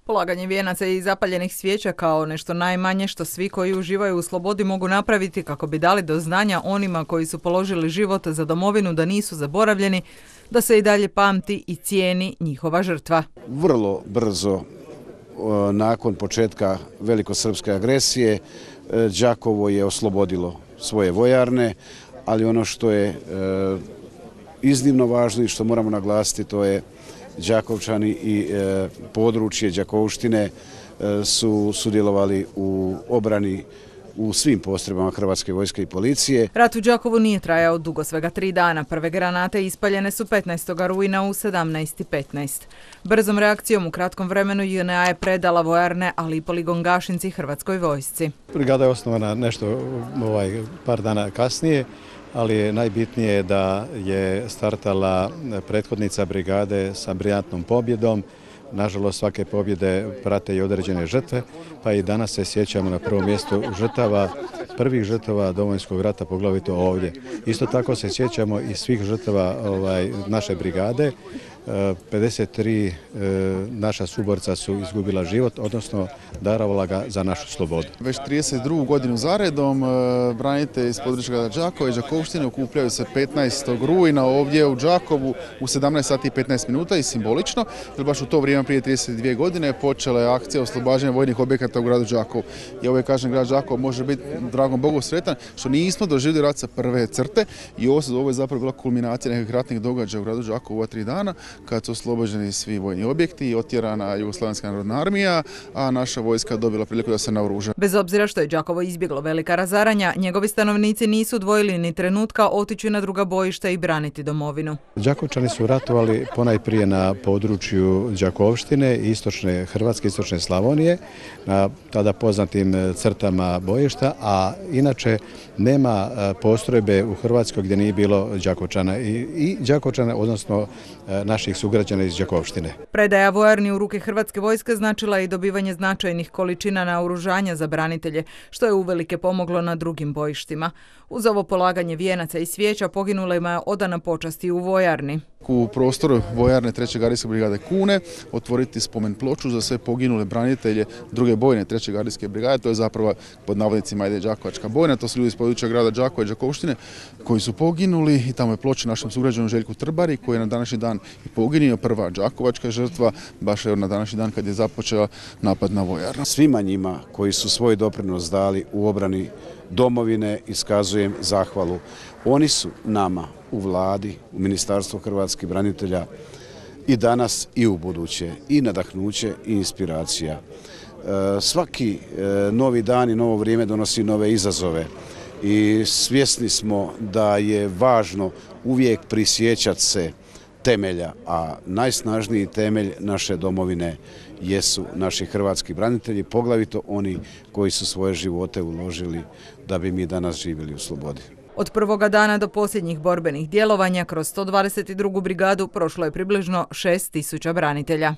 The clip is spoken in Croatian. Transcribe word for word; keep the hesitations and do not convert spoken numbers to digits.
Polaganje vijenaca i zapaljenih svijeća kao nešto najmanje što svi koji uživaju u slobodi mogu napraviti kako bi dali do znanja onima koji su položili život za domovinu da nisu zaboravljeni, da se i dalje pamti i cijeni njihova žrtva. Vrlo brzo nakon početka velikosrpske agresije Đakovo je oslobodilo svoje vojarne, ali ono što je iznimno važno i što moramo naglasiti, to je Đakovčani i e, područje Đakovštine e, su sudjelovali u obrani u svim postrojbama Hrvatske vojske i policije. Rat u Đakovu nije trajao dugo, svega tri dana. Prve granate ispaljene su petnaestog rujna u sedamnaest i petnaest. Brzom reakcijom u kratkom vremenu J N A je predala vojarne, ali i poligon Gašinci Hrvatskoj vojsci. Brigada je osnovana nešto ovaj, par dana kasnije, ali je najbitnije da je startala prethodnica brigade sa briljantnom pobjedom. Nažalost, svake pobjede prate i određene žrtve, pa i danas se sjećamo na prvom mjestu žrtava, prvih žrtava Domovinskog rata, poglavito ovdje. Isto tako se sjećamo i svih žrtava ovaj, naše brigade. pedeset tri e, naša suborca su izgubila život, odnosno darovala ga za našu slobodu. Već trideset drugu godinu zaredom e, branitelji iz područja grada Đakova i Đakovštine okupljaju se petnaestog rujna ovdje u Đakovu u sedamnaest sati i petnaest minuta i simbolično, jer baš u to vrijeme prije trideset dvije godine počela je akcija oslobađanja vojnih objekata u gradu Đakovu. I ovaj, kažem, grad Đakovo može biti, dragom Bogu, sretan što nismo doživjeli rat sa prve crte i ovo, ovo je zapravo bila kulminacija nekih ratnih događaja u gradu Đakovu ova tri dana, kad su oslobođeni svi vojni objekti i otjerana Jugoslavenska narodna armija, a naša vojska dobila priliku da se naoruža. Bez obzira što je Đakovo izbjeglo velika razaranja, njegovi stanovnici nisu dvojili ni trenutka otići na druga bojišta i braniti domovinu. Đakovčani su ratovali ponajprije na području Đakovštine, istočne Hrvatske, istočne Slavonije, na tada poznatim crtama bojišta, a inače nema postrojbe u Hrvatskoj gdje nije bilo Đakovčana i, i Đakovčana, odnosno naših sugrađana iz Đakovštine. Predaja vojarni u ruke Hrvatske vojske značila je i dobivanje značajnih količina naoružanja za branitelje, što je uvelike pomoglo na drugim bojištima. Uz ovo polaganje vijenaca i svijeća poginulima je odana počast i u vojarni. U prostoru vojarne treće gardijske brigade Kune otvoriti spomen ploču za sve poginule branitelje druge bojne treće gardijske brigade. To je zapravo pod navodnicima ide Đakovačka bojna. To su ljudi iz područja grada Đakova i Đakovštine koji su poginuli i tamo je ploča našem sugrađanu Željku Trbari koji je na današnji dan i poginio, prva đakovačka žrtva, baš je na današnji dan kad je započeo napad na vojarnu. Svima njima koji su svoj doprinos dali u obrani domovine iskazujem zahvalu. Oni su nama u vladi, u Ministarstvu hrvatskih branitelja i danas i u buduće i nadahnuće i inspiracija. Svaki novi dan i novo vrijeme donosi nove izazove i svjesni smo da je važno uvijek prisjećati se temelja, a najsnažniji temelj naše domovine jesu naši hrvatski branitelji, poglavito oni koji su svoje živote uložili da bi mi danas živjeli u slobodi. Od prvoga dana do posljednjih borbenih djelovanja kroz sto dvadeset drugu brigadu prošlo je približno šest tisuća branitelja.